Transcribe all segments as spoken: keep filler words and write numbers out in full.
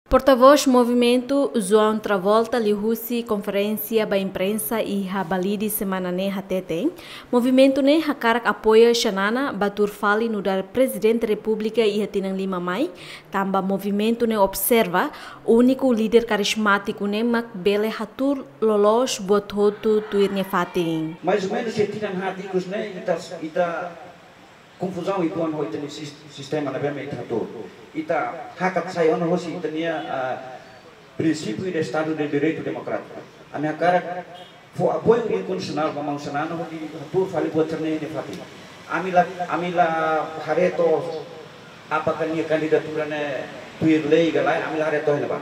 Portavós Movimentu, João Travolta, liuhusi konferénsia ba imprensa iha Balide semana ne'e hateten, movimentu ne'e hakarak apoia Xanana ba tuur fali nu'udar Prezidente Repúblika iha tinan lima mai, tanba movimentu ne'e observa úniku líder karizmátiku ne'e mak bele hatuur loloos buat hotu tuir nia fatin. Mais ou menos se tinan haat ikus ne'e ita, ita konfuzaun uitoan ho ita-nia sis-, sistema ne'ebé mak ita hatuur. Ita hakat sai ona hosi ita-nia, ah, prinsípiu de Estadu de Direitu Demokrátiku. Ami hakarak fó apoiu inkondisionál ba maun Xanana hodi hatuur fali buat sira-ne'e iha nia fatin. Ami la, ami la haree to'o apakah nia kandidatura ne'e tuir lei ka lae, ami la haree to'o iha ne'ebá.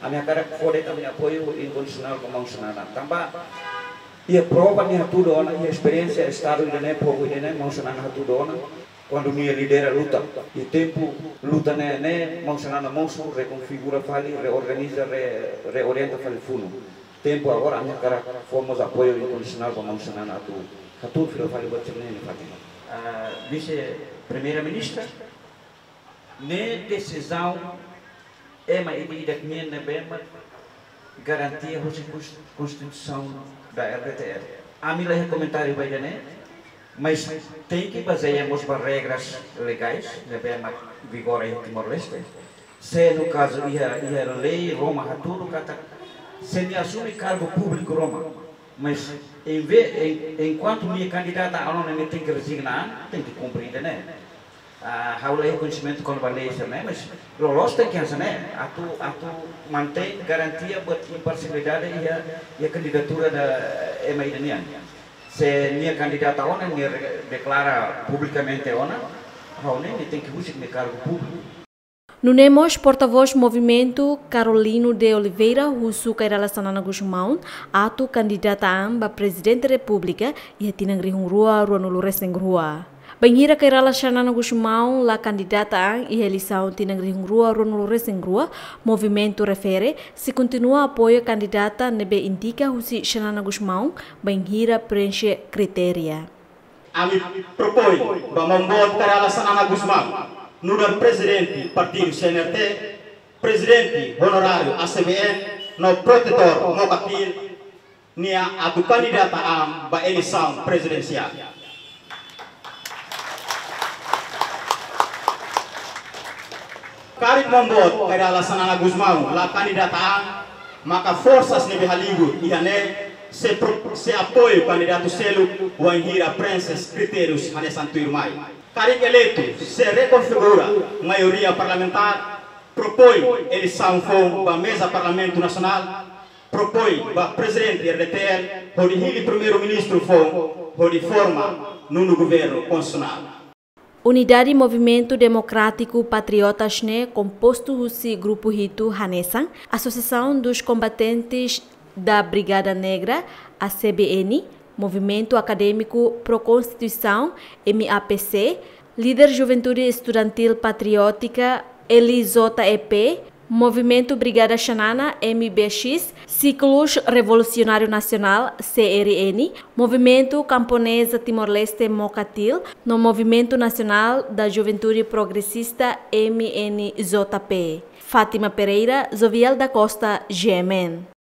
Ami hakarak fó de'it ami-nia apoiu inkondisionál ba maun Xanana. Tanba iha prova nia hatudu ona, iha esperiénsia Estadu ida-ne'e, povu ida-ne'e, maun Xanana hatudu ona. Kuandu nia lidera luta, iha tempu luta ne'e, ne'e maun Xanana mosu, rekonfigura fali, reorganiza, re-, reorienta fali funu. Tempu agora, ami hakarak fó mós apoiu inkondisionál ba maun Xanana atu hatuur fila fali buat sira-ne'e iha nia fatin. Ah, Vise-Primeira-Ministra, ne'e desizaun ema ida-idak nian ne'ebé mak garantia husi kons-, Konstituisaun da R D T L. Ami la iha komentáriu ba ida-ne'e, mas tenke bazeia mós ba regras legais ne'ebé mak vigora iha Timor-Leste. Se no kazu iha, iha lei ruma hatudu katak se nia asume kargu públiku ruma, mas em ve-, em, enkuantu nia kandidata ona, nia tenke rezigna, tenke kumpre ida-ne'e. Ah, ha'u la iha koñesimentu kona-ba lei sira-ne'e, mas loloos tenke hanesan ne'e, atu, atu mantein garantia buat imparsialidade iha, iha kandidatura da ema ida nian. Se nia kandidata ona, nia re-, deklara publikamente ona, ha'u hanoin nia tenke husik nia kargu públiku. Nune'e mós portavós movimentu Carolino de Oliveira husu Kay Rala Xanana Gusmão atu kandidata an ba Prezidente Repúblika iha tinan rihun rua ruanulu resin rua. Bainhira Kay Rala Xanana Gusmão la kandidata an iha eleisaun tinan rihun rua ruanulu resin rua, movimentu refere sei kontinua apoia kandidata ne'ebé indika husi Xanana Gusmão bainhira preenxe kritéria. Ami propoin ba maun boot Kay Rala Xanana Gusmão nu'udar Prezidente Partidu C N R T, Prezidente Onoráriu A C B N, no Protetór Mokatl nian atu kandidata an ba eleisaun prezidensiál. Karik maun boot Kay Rala Xanana Gusmão la kandidata an, maka forsas ne'ebé hali'ur iha ne'e sei pro-, sei apoiu kandidatu seluk wainhira preenxe kritériu hanesan tuirmai. Karik eleitu, sei rekonfigura maioria parlamentár, propoin eleisaun foun ba meza Parlamentu Nasionál, propoin ba Prezidente R D T L, hodi hili Primeiru-Ministru foun, hodi forma nonu governu konstitusionál. Unidade Movimentu Demokrátiku Patriotas ne'e kompostu husi grupu hitu hanesan Associação dos Combatentes da Brigada Negra, A C B N, Movimentu Akadémiku Pro Konstituisaun, M A P C, Líder Juventude Estudantil Patriótika, L J E P, Movimentu Brigada Xanana, M B X, Círculo Revolucionário Nacional, C R N, Movimentu Kamponeza Timor-Leste, Mokatl, no Movimentu Nasionál da Juventude Progresista, M N J P. Fátima Pereira, Jovial da Costa, G M N.